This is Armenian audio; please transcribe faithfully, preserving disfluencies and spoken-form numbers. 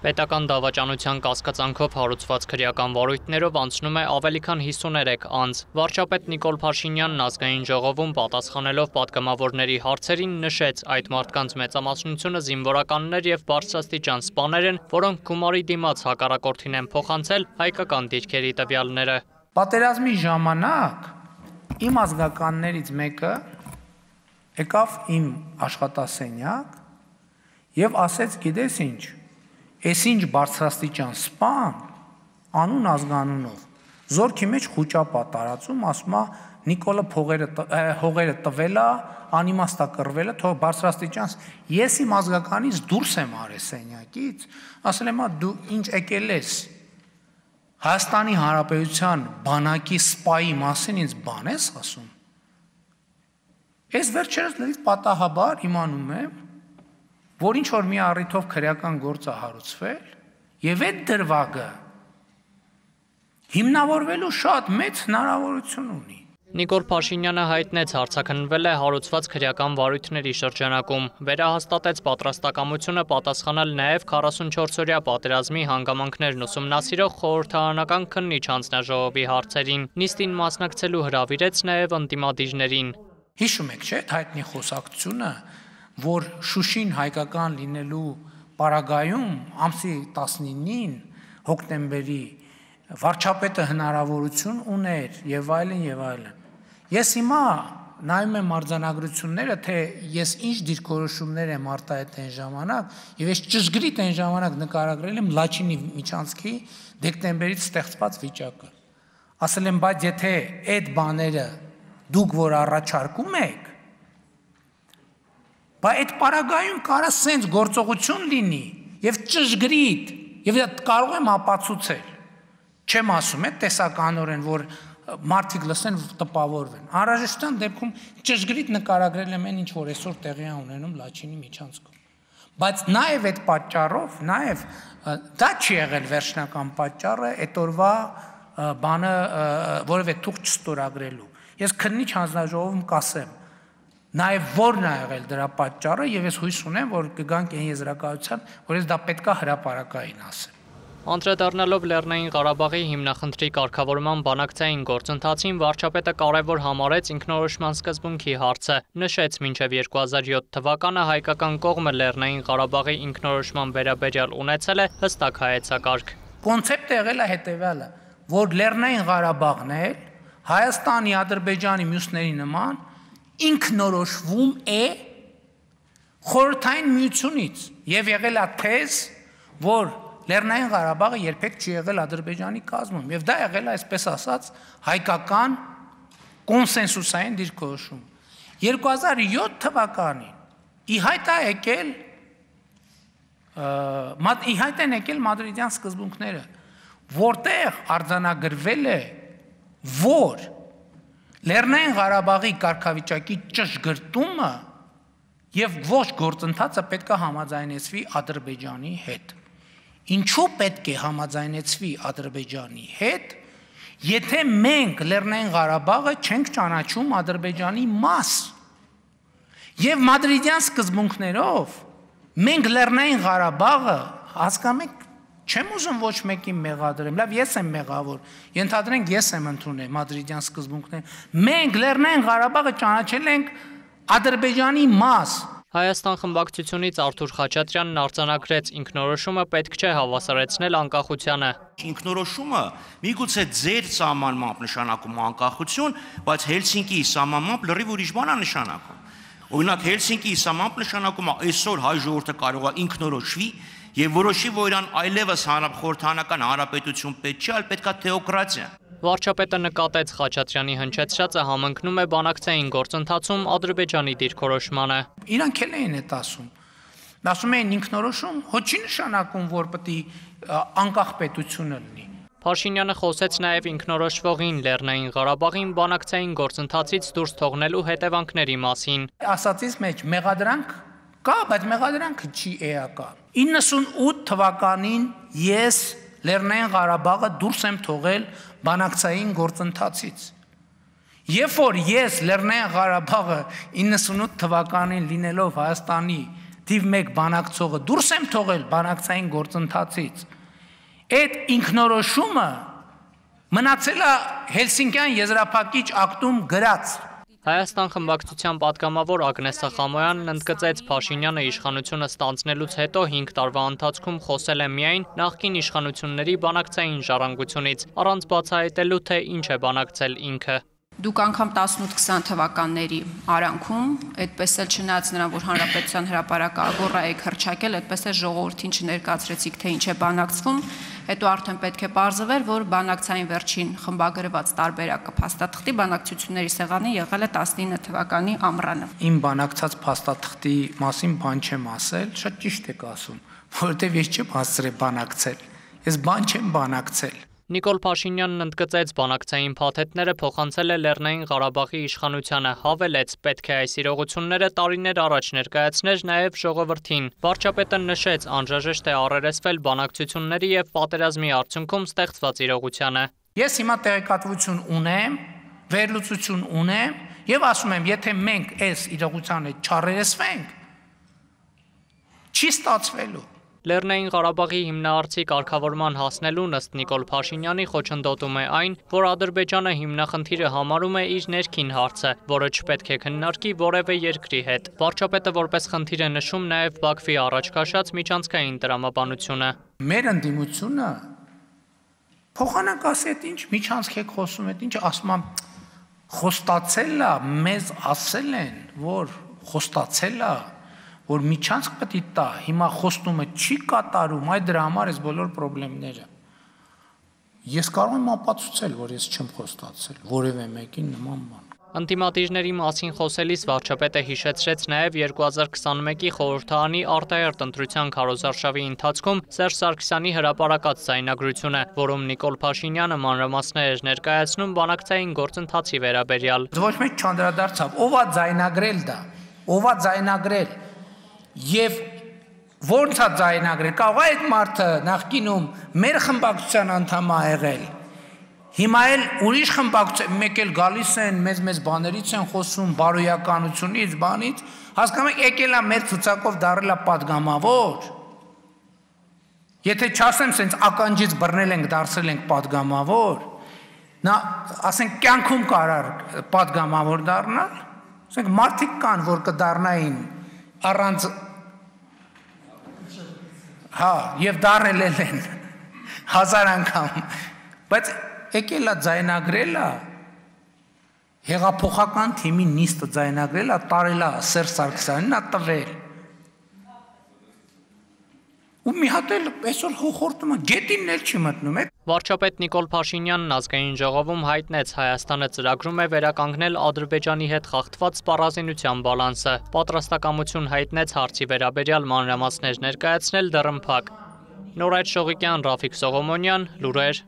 Պետական դավաճանության կասկածանքով հարուցված քրեական վարույթներով անցնում է ավելի քան հիսուներեք անց։ Վարչապետ Նիկոլ Փաշինյանն ազգային ժողովում պատասխանելով պատգամավորների հարցերին նշեց, այդ մարդկանց մեծամասնությունը զինվորականներ եւ բարձրաստիճան սպաներ են, որոնք գումարի դիմաց հակառակորդին են փոխանցել հայկական դիրքերի տվյալները։ Պատերազմի ժամանակ իմ ազգականներից մեկը եկավ իմ աշխատասենյակ եւ ասեց, գիտես ինչ, Ես ինչ բարձրաստիճան սպան, անուն ազգանունով, զորքի մեջ խուճապա տարածում, ասում է Նիկոլը հողերը տվելա, անիմաստա կռվելը, թող բարձրաստիճան, ես իմ ազգականից դուրս եմ արել սենյակից, ասել եմ, դու ինչ եկել ես, Հայաստանի Հանրապետության բանակի սպայի մասին ինձ բան ես ասում, ես վերջերս լրիվ պատահաբար իմանում եմ, որ ինչ որ մի առիթով քրեական գործ է հարուցվել, եւ այդ դրվագը հիմնավորվելու շատ մեծ հնարավորություն ունի։ Նիկոլ Փաշինյանը հայտնեց հարցաքննվել է հարուցված քրեական վարույթների շրջանակում, վերահաստատեց պատրաստակամությունը պատասխանել նաև քառասունչորսօրյա պատերազմի հանգամանքներն ուսումնասիրող խորհրդարանական քննիչ հանձնաժողովի հարցերին, նիստին մասնակցելու հրավիրեց նաև ընդդիմադիրներին։ Հիշում եք, չէ՞, հայտնի խոսակցությունը, որ Շուշին հայկական լինելու պարագայում ամսի տասնինին հոկտեմբերի վարչապետը հնարավորություն ուներ եւ այլն եւ այլն։ Ես հիմա նայում եմ արձանագրությունները, թե ես ինչ դիրքորոշումներ եմ արտահայտել այն ժամանակ եւ ես ճշգրիտ այն ժամանակ նկարագրել եմ Լաչինի միջանցքի դեկտեմբերից ստեղծված վիճակը։ Ասել եմ, բայց եթե այդ բաները դուք որ առաջարկում եք, Բայց այդ պարագայում կարա սենց գործողություն լինի եւ ճշգրիտ եւ կարող եմ ապացուցել։ Չեմ ասում, այդ տեսականորեն, որ մարդիկ լսեն տպավորվեն։ Անհրաժեշտության դեպքում ճշգրիտ նկարագրել եմ այն, ինչ որ այսօր տեղի է ունենում Լաչինի միջանցքում։ Բայց նաեւ այդ պատճառով, նաեւ դա չի եղել վերջնական պատճառը այդ օրվա բանը որևէ թուղթ չստորագրելու։ Ես քննիչ հանձնաժողովում կասեմ Նաև որն է եղել դրա պատճառը եւ ես հույս ունեմ, որ կգանք այն եզրակացության, որ ես դա պետքա հրապարակային ասեմ։ Անդրադառնալով Լեռնային Ղարաբաղի հիմնախնդրի կարգավորման բանակցային գործընթացին վարչապետը կարևոր համարեց ինքնորոշման սկզբունքի հարցը, նշեց մինչև երկու հազար յոթ թվականը հայկական կողմը Լեռնային Ղարաբաղի ինքնորոշման վերաբերյալ ունեցել է հստակ հայեցակարգ։ Կոնցեպտը եղել է հետեւյալը, որ Լեռնային Ղարաբաղն է Հայաստանի, Ադրբեջանի, մյուսների նման ինքնորոշվում է խորհրդային միությունից եւ եղել է թեզ, որ Լեռնային Ղարաբաղը երբեք չի եղել Ադրբեջանի կազմում եւ դա եղել է, այսպես ասած, հայկական կոնսենսուսային դիրքորոշում։ երկու հազար յոթ թվականին ի հայտ է եկել ի հայտ են եկել մադրիդյան սկզբունքները, որտեղ արձանագրվել է, որ Լեռնային Ղարաբաղի կարգավիճակի ճշգրտումը եւ ոչ գործընթացը պետք է համաձայնեցվի Ադրբեջանի հետ։ Ինչու պետք է համաձայնեցվի Ադրբեջանի հետ, եթե մենք Լեռնային Ղարաբաղը չենք ճանաչում Ադրբեջանի մաս։ Եվ մադրիդյան սկզբունքներով մենք Լեռնային Ղարաբաղը հասկանում եք Չեմ ուզում ոչ մեկին մեղադրեմ, լավ ես եմ մեղավոր, ենթադրենք ես եմ ընդունել մադրիդյան սկզբունքները, մենք Լեռնային Ղարաբաղը ճանաչել ենք Ադրբեջանի մաս։ Հայաստան խմբակցությունից Արթուր Խաչատրյանն արձանագրեց, ինքնորոշումը պետք չէ հավասարեցնել անկախությանը։ Ինքնորոշումը միգուցե ձեր սահմանմամբ նշանակում անկախություն, բայց Հելսինկիի սահմանմամբ լրիվ ուրիշ բան է նշանակում։ Օրինակ Հելսինկիի սահմանմամբ նշանակում է այսօր հայ ժողովուրդը կարող է ինքնորոշվի Եվ որոշի, որ իրան այլևս խորհրդարանական հանրապետություն պետք չէ, այլ պետք է թեոկրատիա։ Վարչապետը նկատեց Խաչատրյանի հնչեցրածը համընկնում է բանակցային գործընթացում Ադրբեջանի դիրքորոշմանը։ Իրանք էլ էին այդ ասում։ Ասում էին ինքնորոշում, ոչ չի նշանակում, որ պետք է անկախ պետությունը լինի։ Փաշինյանը խոսեց նաև ինքնորոշվողին Լեռնային Ղարաբաղին բանակցային գործընթացից դուրս թողնելու հետևանքների մասին։ Ասածից մեջ մեղադրանք կա, բայց մեղադրանքը չի էական։ իննսունութ թվականին ես Լեռնային Ղարաբաղը դուրս եմ թողել բանակցային գործընթացից։ Երբ որ ես Լեռնային Ղարաբաղը իննսունութ թվականին լինելով Հայաստանի թիվ մեկ բանակցողը դուրս եմ թողել բանակցային գործընթացից, այդ ինքնորոշումը մնացել է Հելսինկյան եզրափակիչ ակտում գրած։ Հայաստան խմբակցության պատգամավոր Ագնես Սախամոյանն ընդգծեց Փաշինյանը իշխանությունը ստանձնելուց հետո հինգ տարվա ընթացքում խոսել է միայն նախկին իշխանությունների բանակցային ժառանգությունից, առանց բացահայտելու, թե ինչ է բանակցել ինքը։ Դուք անգամ տասնութ քսան թվականների արանքում, այդպես էլ չնայած նրան, որ Հանրապետության հրապարակը ագոռա եք հռչակել, այդպես էլ ժողովրդին չներկայացրեցիք, թե ինչ է բանակցվում, հետո արդեն պետք է պարզվեր, որ բանակցային վերջին խմբագրված տարբերակը փաստաթղթի բանակցությունների սեղանի եղել է տասնինը թվականի ամռանը։ Իմ բանակցած փաստաթղթի մասին բան չեմ ասել, շատ ճիշտ եք ասում, որովհետև ես չեմ հասցրել բանակցել, ես բան չեմ բանակցել։ Նիկոլ Փաշինյանն ընդգծեց բանակցային փաթեթները փոխանցել է Լեռնային Ղարաբաղի իշխանությանը, հավելեց, պետք է այս իրողությունները տարիներ առաջ ներկայացներ նաև ժողովրդին։ Վարչապետը նշեց, անհրաժեշտ է առերեսվել բանակցությունների եւ պատերազմի արդյունքում ստեղծված իրողությանը։ Ես հիմա տեղեկատվություն ունեմ, վերլուծություն ունեմ եւ ասում եմ, եթե մենք այս իրողությանը չառերեսվենք, չի ստացվելու։ Լեռնային Ղարաբաղի հիմնահարցի կարգավորման հասնելուն ըստ Նիկոլ Փաշինյանի խոչընդոտում է այն, որ Ադրբեջանը հիմնախնդիրը համարում է իր ներքին հարցը, որը չպետք է քննարկի որևէ երկրի հետ։ Վարչապետը որպես խնդիր է նշում նաև Բաքվի առաջ քաշած միջանցքային տրամաբանությունը։ Մեր ընդդիմությունը փոխանակ ասի, այդ ինչ միջանցք եք խոսում, այդ ինչ ասում եմ, խոստացել է, մեզ ասել են, որ խոստացել է, որ միջանցք պետք է տա, հիմա խոստումը չի կատարում, այդ դրա համար էս բոլոր խնդիրները։ Ես կարող եմ ապացուցել, որ ես չեմ խոստացել որևէ մեկին նման բան։ Անտիմատիրների մասին խոսելիս վարչապետը հիշեցրեց նաև երկու հազար քսանմեկի խորհրդարանի արտահերթ ընտրության քարոզարշավի ընթացքում Սերժ Սարգսյանի հրապարակած ձայնագրությունը, որում Նիկոլ Փաշինյանը մանրամասներ էր ներկայացնում բանակցային գործընթացի վերաբերյալ։ Ոչ մեկ չանդրադարձավ, ով է ձայնագրել դա, ով է ձայնագրել եւ ո՞նց է ձայնագրել, կարող է այդ մարդը նախկինում մեր խմբակցության անդամ է եղել։ Հիմա էլ ուրիշ խմբակցություն, մեկ էլ գալիս են, մեծ-մեծ բաներից են խոսում, բարոյականությունից, բանից, հասկանում եք, եկել է մեր ցուցակով դարել է падգամավոր։ Եթե չասեմ, սենց ականջից բռնել ենք, դարձել ենք падգամավոր, նա, ասենք, կյանքում կարար падգամավոր դառնալ, ասենք, մարդիկ կան, որ կդառնային առանց, հա, եւ դառել են հազար անգամ, բայց եկել է ձայնագրել է, հեղափոխական թիմի նիստը ձայնագրել է, տարել է Սերժ Սարգսյանին, է տվել։ Ու մի հատ էլ այսօր խորտում է, գետինն էլ չի մտնում է։ Վարչապետ Նիկոլ Փաշինյանն ազգային ժողովում հայտնեց Հայաստանը ծրագրում է վերականգնել Ադրբեջանի հետ խախտված սպառազինության բալանսը։ Պատրաստակամություն հայտնեց հարցի վերաբերյալ մանրամասներ ներկայացնել դռնփակ։ Նորայր Շողիկյան, Ռաֆիկ Սողոմոնյան, լուրեր։